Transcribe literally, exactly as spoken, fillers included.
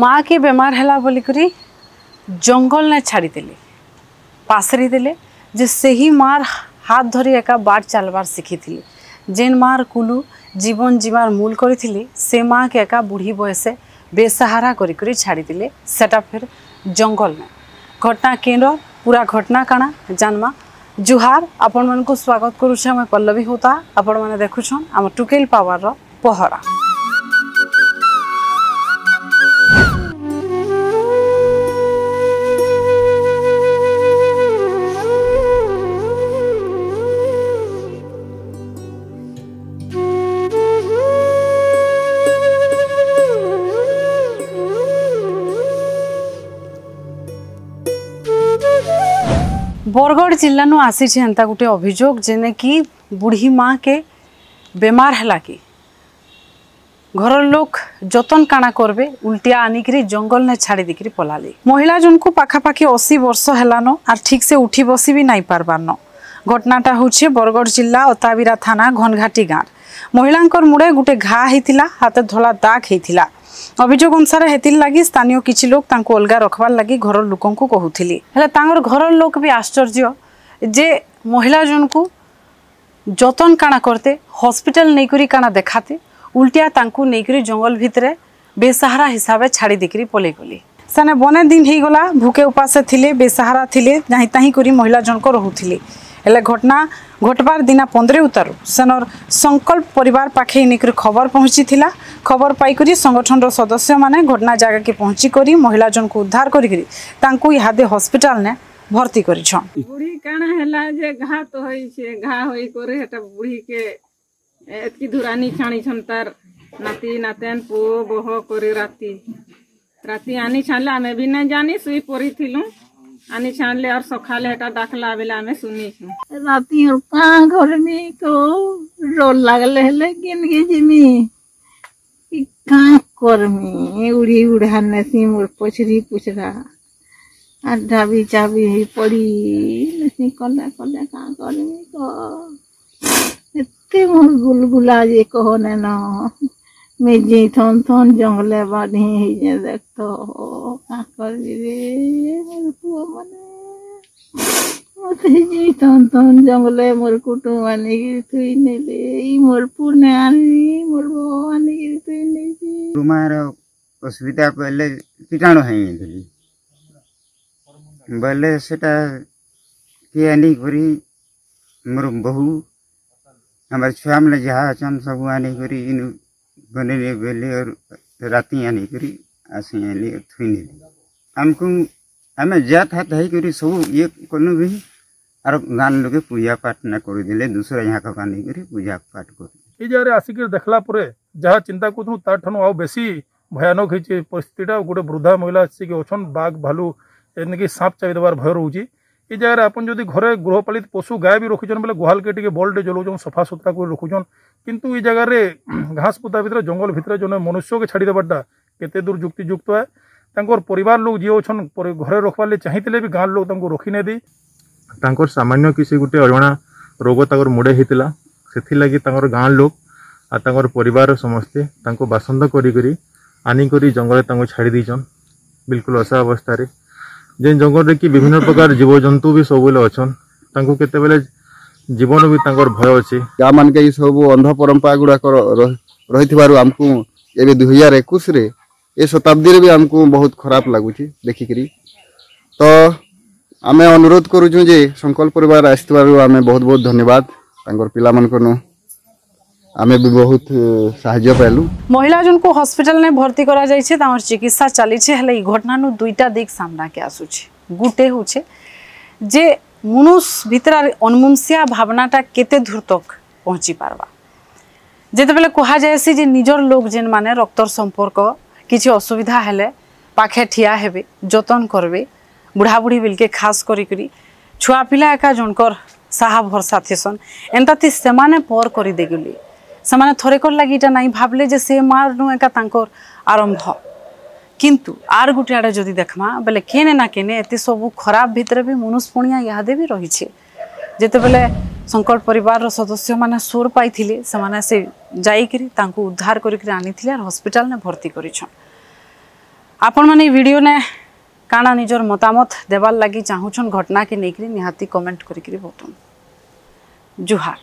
ମା କେ ବେମାର ହେଲା ବୋଲିକରି ଜଙ୍ଗଲ ନେ ଛାଡ଼ିଦେଲେ, ପାସରି ଦେଲେ, ଯେ ସେହି ମାର ହାତ ଧରି ଏକା ବାଟ ଚାଲବାର ଶିଖିଥିଲେ। ଯେନ୍ ମାର କୁଲୁ ଜୀବନ ଜୀବାର ମୂଲ କରିଥିଲେ, ସେ ମା କେ ଏକା ବୁଢ଼ୀ ବୟସେ ବେସାହାରା କରିକରି ଛାଡ଼ିଦେଲେ, ସେଟା ଫେର ଜଙ୍ଗଲ ନେ। ଘଟଣା କେନର, ପୁରା ଘଟଣା କାଣା ଜାନମା। ଜୁହାର, ଆପଣମାନଙ୍କୁ ସ୍ୱାଗତ କରୁଛେ ଆମେ ପଲ୍ଲବୀ ହୁତା। ଆପଣମାନେ ଦେଖୁଛନ୍ ଆମ ଟୁକେଲ ପାୱାରର ପହରା। ବରଗଡ଼ ଜିଲ୍ଲାନୁ ଆସିଛେ ଏନ୍ତା ଗୋଟେ ଅଭିଯୋଗ, ଯେନେ କି ବୁଢ଼ୀ ମା କେ ବେମାର ହେଲା କି ଘରର ଲୋକ ଯତନ କାଣା କରବେ, ଉଲ୍ଟିଆ ଆନିକିରି ଜଙ୍ଗଲ ନେ ଛାଡ଼ି ଦେଇକିରି ପଲାଲି। ମହିଳା ଜଣକୁ ପାଖାପାଖି ଅଶୀ ବର୍ଷ ହେଲାନ, ଆର୍ ଠିକ୍ ସେ ଉଠି ବସି ବି ନାଇଁ ପାରବାରନ। ଘଟଣାଟା ହଉଛେ ବରଗଡ଼ ଜିଲ୍ଲା ଅତାବିରା ଥାନା ଘନଘାଟି ଗାଁର। ମହିଳାଙ୍କର ମୁଡ଼େ ଗୋଟେ ଘା ହେଇଥିଲା, ହାତେ ଧଳା ଦାଗ ହେଇଥିଲା। ଅଭିଯୋଗ ଅନୁସାରେ ହେତିର ଲାଗି ସ୍ଥାନୀୟ କିଛି ଲୋକ ତାଙ୍କୁ ଅଲଗା ରଖବାର ଲାଗି ଘରର ଲୋକଙ୍କୁ କହୁଥିଲେ। ହେଲେ ତାଙ୍କର ଘରର ଲୋକ ବି ଆଶ୍ଚର୍ଯ୍ୟ ଯେ ମହିଳା ଜଣକୁ ଯତନ କାଣା କରତେ, ହସ୍ପିଟାଲ ନେଇକରି କାଣା ଦେଖାତେ, ଉଲ୍ଟିଆ ତାଙ୍କୁ ନେଇକରି ଜଙ୍ଗଲ ଭିତରେ ବେସାହାରା ହିସାବେ ଛାଡ଼ି ଦେଇକରି ପଲେଇ ଗଲେ। ସେନେ ବନେ ଦିନ ହେଇଗଲା, ଭୁକେ ଉପାସେ ଥିଲେ, ବେସାହାରା ଥିଲେ, ଯାହିଁ ତାହିଁ କରି ମହିଳା ଜଣକ ରହୁଥିଲେ। ହେଲେ ଘଟଣା ଘଟବାର ଦିନା ପନ୍ଦର ଉତାରୁ ସେନର ସଂକଳ୍ପ ପରିବାର ପାଖେ ଇନିକରି ଖବର ପହଞ୍ଚିଥିଲା। ଖବର ପାଇକରି ସଂଗଠନର ସଦସ୍ୟମାନେ ଘଟଣା ଜାଗାକେ ପହଞ୍ଚିକରି ମହିଳା ଜଣକୁ ଉଦ୍ଧାର କରିକରି ତାଙ୍କୁ ଇହାଦେ ହସ୍ପିଟାଲ ନେ ଭର୍ତ୍ତି କରିଛନ୍। ବୁଢ଼ୀ କାଣା ହେଲା ଯେ ଘା ତ ହେଇଛେ, ଘା ହେଇକରି ହେଟା ବୁଢ଼ୀକେ ଏତକି ଦୂର ଆନି ଛାଡ଼ିଛନ୍ ତାର ନାତି, ନାତେନ, ପୁଅ, ବହ କରି ରାତି। ରାତି ଆନି ଛାଡ଼ିଲେ ଆମେ ବି ନାଇଁ ଜାନି, ଶୁଇ ପଡ଼ିଥିଲୁ। ଆନି ଛାଡ଼ିଲେ ଆର୍ ସକାଲେ ହେଟା ଡାକଲା ବେଲେ ଆମେ ଶୁନିଛୁ। ରାତି ଆର୍ କାଁ କରମି କୋ, ଡର ଲାଗଲେ ହେଲେ କେନକେ ଯିମି? କି କାଁ କରମି? ଉଢ଼ି ଉଢ଼ା ନେସି ମୋର ପଛରି ପୁଛରା। ଆର୍ ଢାବି ଚାବି ହେଇ ପଡ଼ି ନେସି କଲେ କଲେ କାଁ କରମି କୋ? ଏତେ ମୋର ଗୁଲଗୁଲା ଯେ କହନେ ନ। ମେ ଯେଇ ଥନ ଥନ ଜଙ୍ଗଲେ ବାଢ଼ି ହେଇଛେ ଦେଖ ତ। କାଁ କରବି ରେ ମୋର ପୁଅ ମାନେ। ମତେ ଯେଇ ଥନ ଥନ ଜଙ୍ଗଲେ ମୋର କୁଟୁମ ଆନିକିରି ଥୁଇ ନେଲେ। ଇ ମୋର ପୁଅ ନେ ଆନି, ମୋର ବୋହୁ ଆନିକିରି ଥୁଇ ନେଇଛେ। ତୁମର ଅସୁବିଧା ପଇଲେ କୀଟାଣୁ ହେଇଯାଇଥିଲି। ବୋଇଲେ ସେଟା କିଏ ଆନିକରି ମୋର ବୋହୁ, ଆମର ଛୁଆମାନେ ଯାହା ଅଛନ୍, ସବୁ ଆନିକରି ଇନୁ ବନେଇଲେ ବେଲେ, ଅର ରାତି ଆନିକରି ଆସି ଆନି ଥୁଇ ନେଲେ। ଆମକୁ, ଆମେ ଜାତ ହାତ ହେଇକରି ସବୁ ଇଏ କଲୁ ବି, ଆର ଗାଁ ଲୋକେ ପୂଜା ପାଠ ନା କରିଦେଲେ, ଦୁସରା ଯାହା ଆନିକରି ପୂଜା ପାଠ କରିଦେଲେ। ଇ ଜାଗାରେ ଆସିକରି ଦେଖଲା ପରେ ଯାହା ଚିନ୍ତା କରୁଥିଲୁ, ତାର ଠାରୁ ଆଉ ବେଶୀ ଭୟାନକ ହେଇଛି ପରିସ୍ଥିତିଟା। ଗୋଟେ ବୃଦ୍ଧା ମହିଳା ଆସିକି ଅଛନ୍, ବାଘ, ଭାଲୁ, ଏନ୍ତିକି ସାପ ଚାବି ଦେବାର ଭୟ ରହୁଛି। ଇ ଜାଗାରେ ଆପଣ ଯଦି ଘରେ ଗୃହପାଳିତ ପଶୁ ଗାଈ ବି ରଖିଛନ୍, ବେଲେ ଗୁହାଲକେ ଟିକେ ଭଲଟେ ଜଲଉଛନ୍, ସଫା ସୁତରା କରି ରଖୁଛନ୍। କିନ୍ତୁ ଇ ଜାଗାରେ ଘାସ ବୁଦା ଭିତରେ, ଜଙ୍ଗଲ ଭିତରେ ଜଣେ ମନୁଷ୍ୟକେ ଛାଡ଼ି ଦେବାରଟା କେତେ ଦୂର ଯୁକ୍ତିଯୁକ୍ତ ହେ? ତାଙ୍କର ପରିବାର ଲୋକ ଯିଏ ଅଛନ୍, ପରି-, ଘରେ ରଖବାର ଲାଗି ଚାହିଁଥିଲେ ବି ଗାଁ ଲୋକ ତାଙ୍କୁ ରଖି ନାଇଁ ଦେଇ। ତାଙ୍କର ସାମାନ୍ୟ କିଛି ଗୋଟେ ଅଜଣା ରୋଗ ତାଙ୍କର ମୁଣ୍ଡେ ହେଇଥିଲା, ସେଥିଲାଗି ତାଙ୍କର ଗାଁ ଲୋକ ଆଉ ତାଙ୍କର ପରିବାରର ସମସ୍ତେ ତାଙ୍କୁ ବାସନ୍ଦ କରିକରି ଆନିକରି ଜଙ୍ଗଲରେ ତାଙ୍କୁ ଛାଡ଼ି ଦେଇଛନ୍, ବିଲକୁଲ ଅସହାୟ ଅବସ୍ଥାରେ। ଯେ ଜଙ୍ଗଲରେ କି ବିଭିନ୍ନ ପ୍ରକାର ଜୀବଜନ୍ତୁ ବି ସବୁବେଳେ ଅଛନ୍, ତାଙ୍କୁ କେତେବେଳେ ଜୀବନ ବି ତାଙ୍କର ଭୟ ଅଛି। ଗାଁ ମାନକେ ଇ ସବୁ ଅନ୍ଧ ପରମ୍ପରା ଗୁଡ଼ାକ ର-, ର-, ରହିଥିବାରୁ ଆମକୁ ଏବେ ଦୁଇ ହଜାର ଏକୋଇଶରେ, ଏ ଶତାବ୍ଦୀରେ ବି ଆମକୁ ବହୁତ ଖରାପ ଲାଗୁଛି ଦେଖିକିରି। ତ ଆମେ ଅନୁରୋଧ କରୁଛୁ ଯେ ଶଙ୍କର ପରିବାର ଆସିଥିବାରୁ ଆମେ ବହୁତ ବହୁତ ଧନ୍ୟବାଦ। ତାଙ୍କର ପିଲାମାନଙ୍କନୁ ଆମେ ବି ବହୁତ, ଏ, ସାହାଯ୍ୟ ପାଇଲୁ। ମହିଳା ଜଣଙ୍କୁ ହସ୍ପିଟାଲ ନେ ଭର୍ତ୍ତି କରାଯାଇଛି, ତାଙ୍କର ଚିକିତ୍ସା ଚାଲିଛି। ହେଲେ ଇ ଘଟଣାରୁ ଦୁଇଟା ଦିଗ ସାମ୍ନାକେ ଆସୁଛି। ଗୋଟେ ହଉଛେ ଯେ ମନୁଷ ଭିତରେ ଅନମନସିଆ ଭାବନାଟା କେତେ ଦୂର ତକ ପହଞ୍ଚି ପାରବା। ଯେତେବେଳେ କୁହାଯାଏସି ଯେ ନିଜର ଲୋକ ଯେନ୍ମାନେ ରକ୍ତର ସମ୍ପର୍କ, କିଛି ଅସୁବିଧା ହେଲେ ପାଖେ ଠିଆ ହେବେ, ଯତନ କରବେ, ବୁଢ଼ାବୁଢ଼ୀ ବିଲକେ ଖାସ କରିକରି ଛୁଆ ପିଲା ଏକା ଜଣକର ସାହା ଭରସା ଥିସନ୍, ଏନ୍ତା ଥି ସେମାନେ ପର କରି ଦେଇଗଲେ। ସେମାନେ ଥରେକର ଲାଗି ଇଟା ନାଇଁ ଭାବଲେ ଯେ ସେ ମା'ରନୁ ଏକା ତାଙ୍କର ଆରମ୍ଭ। କିନ୍ତୁ ଆର୍ ଗୋଟେ ଆଡ଼େ ଯଦି ଦେଖମା, ବେଲେ କେନେ ନା କେନେ ଏତେ ସବୁ ଖରାପ ଭିତରେ ବି ମନୁଷ ପଣିଆ ଇହାଦେ ବି ରହିଛେ। ଯେତେବେଳେ ଶଙ୍କର ପରିବାରର ସଦସ୍ୟମାନେ ସୋର ପାଇଥିଲେ, ସେମାନେ ସେ ଯାଇକିରି ତାଙ୍କୁ ଉଦ୍ଧାର କରିକିରି ଆନିଥିଲେ ଆର୍ ହସ୍ପିଟାଲରେ ଭର୍ତ୍ତି କରିଛନ୍। ଆପଣମାନେ ଇ ଭିଡିଓ ନେ କାଣା ନିଜର ମତାମତ ଦେବାର ଲାଗି ଚାହୁଁଛନ୍ ଘଟଣା କେ ନେଇକରି ନିହାତି କମେଣ୍ଟ କରିକରି ବତଉନ୍। ଜୁହାର।